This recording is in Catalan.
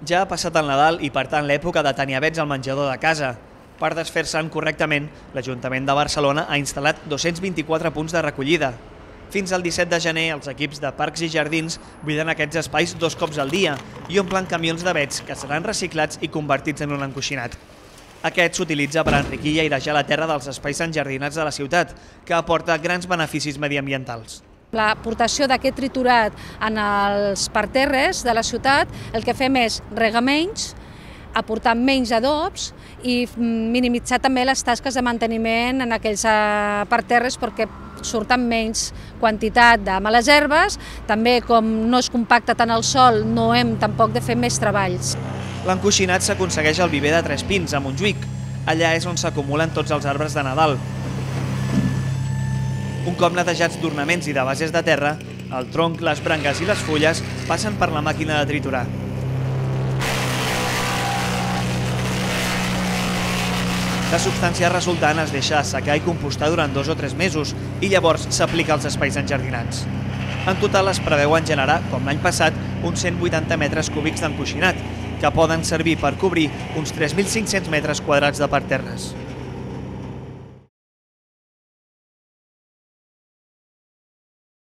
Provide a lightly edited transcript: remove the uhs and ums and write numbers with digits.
Ja ha passat el Nadal i, per tant, l'època de tenir avets al menjador de casa. Per desfer-se'n correctament, l'Ajuntament de Barcelona ha instal·lat 224 punts de recollida. Fins al 17 de gener, els equips de Parcs i Jardins buiden aquests espais 2 cops al dia i omplen camions d'avets que seran reciclats i convertits en un encoixinat. Aquest s'utilitza per enriquir i airejar la terra dels espais enjardinats de la ciutat, que aporta grans beneficis mediambientals. L'aportació d'aquest triturat en els parterres de la ciutat, el que fem és regar menys, aportar menys adobs i minimitzar també les tasques de manteniment en aquells parterres perquè surten menys quantitat de males herbes. També, com no es compacta tant el sòl, no hem tampoc de fer més treballs. L'encoixinat s'aconsegueix al viver de Tres Pins, a Montjuïc. Allà és on s'acumulen tots els arbres de Nadal. Un cop netejats d'ornaments i de bases de terra, el tronc, les branques i les fulles passen per la màquina de triturar. La substància resultant es deixa assecar i compostar durant 2 o 3 mesos i llavors s'aplica als espais enjardinats. En total es preveuen generar, com l'any passat, uns 180 metres cúbics d'encoixinat, que poden servir per cobrir uns 3.500 metres quadrats de parterres.